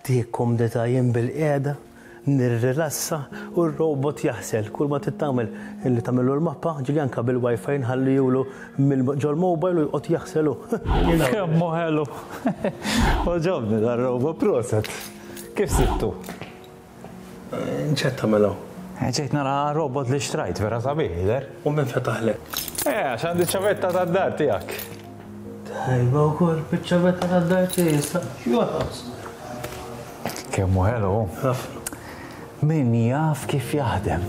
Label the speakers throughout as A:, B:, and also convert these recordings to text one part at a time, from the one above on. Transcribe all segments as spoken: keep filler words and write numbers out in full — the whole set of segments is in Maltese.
A: Dik kumdità, jien bilqiegħda, nirrilassa u r-robot jaħsel. Kull ma trid tagħmel illi tagħmillu l-mappa, ġieli anke bil-Wi-Fi nħallihulu ġol-mobile u joqgħod jaħselu.
B: Kemm hu ħelu. Għoġobni dar-robot, proset. Kif sibtu?
A: X'qed tagħmel hawn?
B: Ġejt nara robot li xtrajt, vera sabiħ jidher.
A: U min fetaħlek?
B: Eh, għax għandi ċavetta tad-dar tiegħek.
A: Tajba wkoll biċ-ċavetta tad-dar tiegħi issa. X'joħos?
B: Kemm hu ħelu.
A: Ħafna.
B: Min jaf kif jaħdem.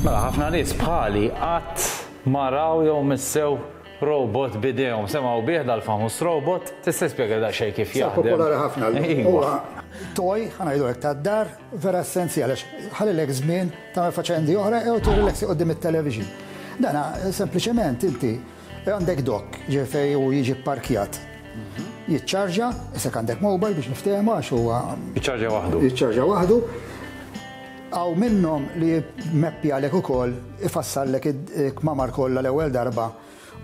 B: Mela, ħafna nies bħali qatt ma raw jew missew robot b'idejhom. Semgħu bih dal-famuż robot, tista' tispjega daqsxejn kif
C: Sa
B: jaħdem?
C: Popolari ħafna.
B: Iva.
C: Huwa toy, ħa ngħidu hekk, tad-dar, vera essenzjali għax ħallilek żmien tagħmel faċendi oħra jew tirrilaxi quddiem it-television. Dana sempliċement inti għandek dock ġej u jiġi parkjat. Jiċċarġa, isek għandek mobile biex niftehmu għax huwa
B: Jiċċarġa waħdu.
C: Jiċċarġa waħdu. Hawn minnhom li jmeppjalek ukoll, ifassallek il-kmamar kollha l-ewwel darba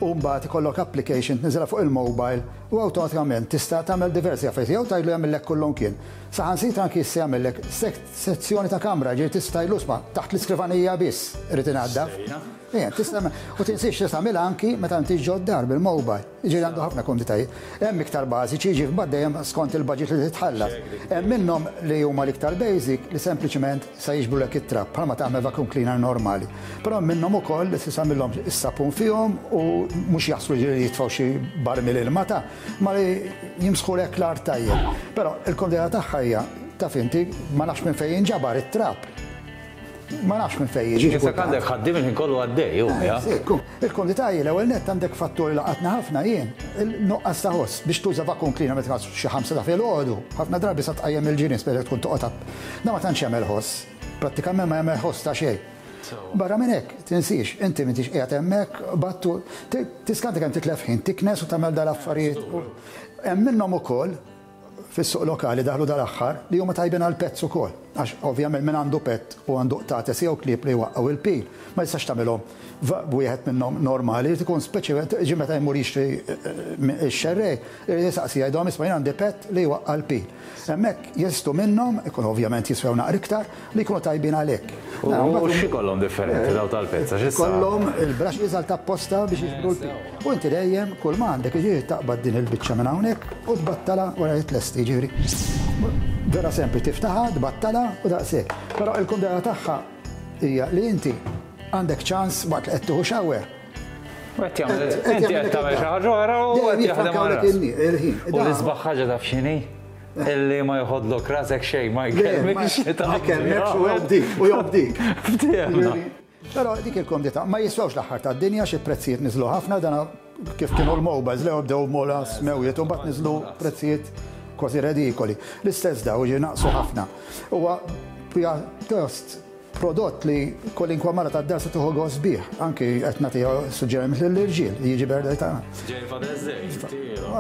C: u mbagħad ikollok application tniżilha fuq il-mobile u awtomatikament tista' tagħmel diversi affarijiet jew tgħidlu jagħmellek kullum kien. Saħansitra anki jista' jagħmellek sezzjoni ta' kamra, ġieli tista' tgħidlu isma' taħt l-iskrivanija biss irid inaddaf. Ejja, tista' u tinsiex tista' tagħmilha anki meta inti ġod-dar bil-mobile. Jiġifieri għandu ħafna komditajiet. Hemm iktar bażiċi, jiġi mbagħad dejjem skont il-budget li titħallas. Hemm minnhom li huma l-iktar basic li sempliċement sa jiġbrulek it-trab bħalma tagħmel vacuum cleaner normali. Però minnhom ukoll li tista' tagħmilhom is-sapun fihom u mhux jaħslu, ġieli jitfgħu xi barmil ilma ta' ma li jimsħulek l-art tajjeb. Però il-komdità tagħha hija, taf inti, ma nafx minn fejn jinġabar it-trab. Ma nafx minn fejn jiġi.
B: Issa għandek ħaddiem il-ħin kollu għaddej, ju, ja?
C: Il-komdità hi l-ewwel nett għandek fattori laqatna ħafna jien, il-nuqqas ta' ħoss biex tuża vacuum cleaner meta xi ħamsa ta' filgħodu, ħafna drabi sa tqajjem il-ġirien spera tkun toqgħod. Da ma tantx jagħmel ħoss, prattikament ma jagħmel ħoss ta' xejn. Barra minn hekk, tinsiex, inti m'intix qiegħed hemmhekk, battu, tiskanta kemm titlef ħin, tiknes u tagħmel dal-affarijiet. Hemm minnhom ukoll fis-suq lokali daħlu dal-aħħar li huma tajbin għal pets ukoll. Għax ovvjament min għandu pet u għandu qtates jew klieb li jwaqqgħu il-pil, ma jistax tagħmilhom wieħed minnhom normali, jrid ikun speċi ġi meta jmur jixtri x-xerrej, irid jisaqsi jgħidhom isma' jien għandi pet li jwaqqa' l-pil. Hemmhekk jeżistu minnhom, ikun ovvjament jiswew naqra iktar, li jkunu tajbin għalhekk.
B: U x'ikollhom differenti daw tal-pets? Għax issa
C: Kollhom il-brushes għal tapposta biex jiġbru l-pil. U inti dejjem kull ma għandek jiġifieri taqbad din il-biċċa minn hawnhekk u tbattala wara li tlesti, jiġifieri. Vera sempli, tiftaħha, tbattala u daqshekk. Però il-kumdità tagħha hija li inti għandek ċans waqt li qed tieħu shower.
B: U qed jagħmel, inti qed tagħmel xi ħaġa oħra u qed jaħdem għal
C: il-ħin.
B: U l-isbaħ ħaġa taf x'inhi? Illi ma joħodlok rasek xejn, ma jkellmekx.
C: Ma jkellmekx u jobdik, u jobdik.
B: Ftehemna.
C: Però dik il-komdità, ma jiswewx l-aħħar tad-dinja, xi prezzijiet niżlu ħafna, dana kif kienu l-mobiles li bdew mola smewjiet u mbagħad niżlu prezzijiet kważi redikoli. L-istess daw ġi naqsu ħafna. Huwa pjuttost prodott li kwalinkwa mara tad-dar se tieħu gost bih. Anki qed nagħtiha suġġeriment lill-irġiel, jiġi birthday tagħna.
B: Ġej Father's Day.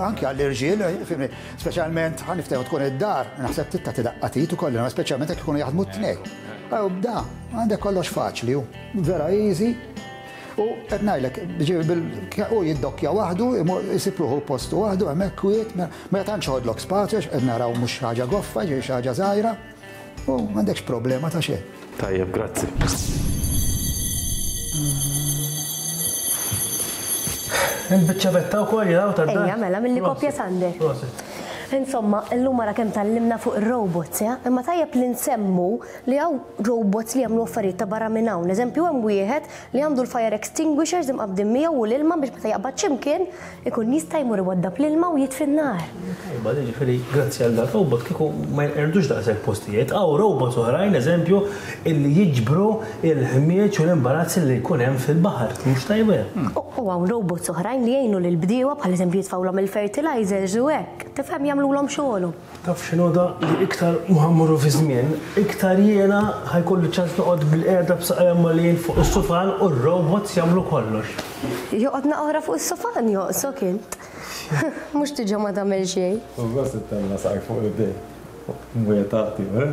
C: Anki għall-irġiel, fimni, speċjalment ħa niftehmu tkun id-dar, naħseb titta tidaqqa tit ukoll, speċjalment jekk ikunu jaħdmu t-tnejn. Ew da, għandek kollox faċli, hu vera easy. U qed ngħidlek, u jiddokkja waħdu, isib ruħu postu waħdu, hemmhekk kwiet, ma tantx ħodlok spazju, qed naraw mhux ħaġa goffa, ġej xi ħaġa żgħira, u m'għandekx problema ta' xejn.
B: Tajjeb, grazzi.
A: Il-biċċavetta wkoll jiraw tad-dar.
D: Ejja, mela, mill-li kopja Sander. Insomma, illum mara kemm tgħallimna fuq ir-robots, ja? Imma tajjeb li nsemmu li hawn robots li jagħmlu affarijiet ta' barra minn hawn. Eżempju, hemm wieħed li għandu l-fire extinguishers imqabbdin miegħu u l-ilma biex meta jaqbad x'imkien ikun jista' jmur iwaddab l-ilma u jitfi n-nar.
A: Tajba, ġifieri grazzi għal dak robot kieku ma jinqerdux daqshekk postijiet. Hawn robots oħrajn, eżempju, illi jiġbru il-ħmieġ u l-imbarazzi li jkun hemm fil-baħar. Mhux tajba.
D: U hawn robots oħrajn li jgħinu lill-bdiewa, bħal eżempju jitfgħulhom il-fertilizers u hekk. Tifhem, jagħmluhom xogħolhom.
A: Taf x'inhu da li iktar ma mmorru fi żmien, iktar jiena ħa jkolli ċans noqgħod bilqiegħda b'saqajja mgħoljin fuq is-sufan u r-robots jagħmlu kollox.
D: Joqgħod oħra fuq is-sufan joqsok int. Mhux tiġi ma tagħmel xejn.
B: U gost ittella saqajk fuq l-idej. Mwiet tagħti, eh?